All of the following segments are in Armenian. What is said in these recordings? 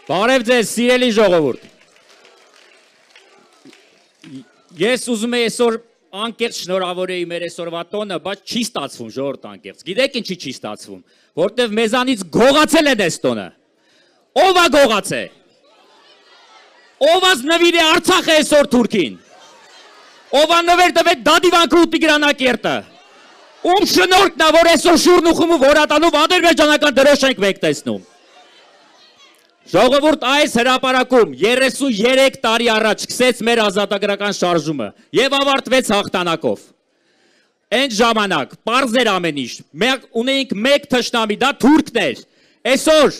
Բարև ձեզ, սիրելի ժողովուրդ։ Ես ուզում եմ այսօր անկեղծ շնորհավորեի մեր այսօրվա տոնը, բայց չի ստացվում ժողովուրդ անկեղծ։ Գիտեք ինչի չի ստացվում, որտեվ մեզանից գողացել են այս տոնը։ Ո՞վ է գողացել։ Ո՞վ է նվիրել Արցախը այսօր Թուրքին։ Ո՞վ է նվեր տվել Դադիվանքը ու Տիգրանակերտը։ Ում շնորհքն է, որ այսօր շուրն ու խումու որատանով ադրբեջանական դրոշ ենք մեկ տեսնում։ Ժողովուրդ այս հրապարակում 33 տարի առաջ սկսեց մեր ազատագրական շարժումը եւ ավարտվեց հաղթանակով։ Այն ժամանակ պարզ էր ամեն ինչ։ Մենք ունեինք մեկ թշնամի, դա թուրքն էր։ Այսօր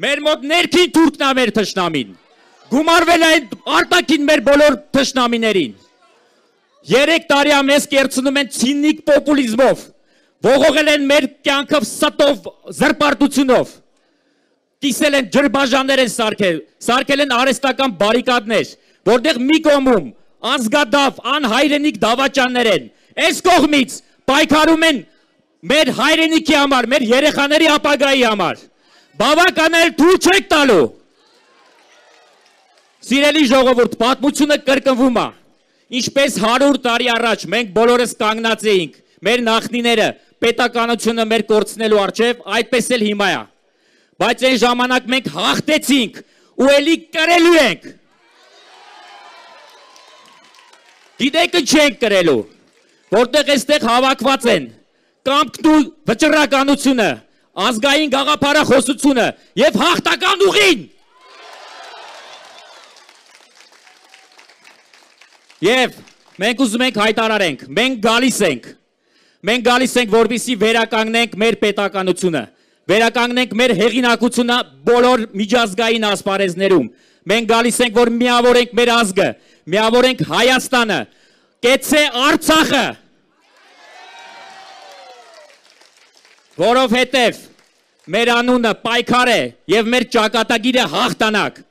մեր մոտ ներքին թուրքն է մեր թշնամին։ Գումարվել է արտաքին մեր բոլոր թշնամիներին։ 3 տարի ամես կերցնում են ցինիկ պոպուլիզմով, ողողել են մեր կյանքը ստով, զրպարտությունով, կիսել են ջրբաժաններ են սարքել են արհեստական բարիկադներ, որտեղ մի կողմում ազգադավ, անհայրենիք դավաճաններ են, այս կողմից պայքարում են մեր հայրենիքի համար, մեր երեխաների ապագայի համար, բավական է թույլ չեք տալու։ Սիրելի ժողովուրդ, պատմությունը կրկնվում է։ Ինչպես 100 տարի առաջ մենք բոլորս կանգնած էինք, մեր նախնիները պետականությունը մեր կորցնելու առջև, այդպես էլ հիմա է։ Բայց այն ժամանակ մենք հաղթեցինք ու էլի կրելու ենք։ Գիտեք ինչ ենք կրելու, որտեղ այստեղ հավաքված են կամքն ու վճռականությունը, ազգային գաղափարախոսությունը եւ հաղթական ուղին։ Եվ մենք ուզում ենք հայտարարենք, մենք գալիս ենք, որպեսզի վերականգնենք մեր պետականությունը, վերականգնենք մեր հեղինակությունը բոլոր միջազգային ասպարեզներում, մենք գալիս ենք, որ միավորենք մեր ազգը, միավորենք Հայաստանը, կեցցե Արցախը, որովհետև մեր անունը պայքար է և մեր ճակատագիրը հաղթանակ։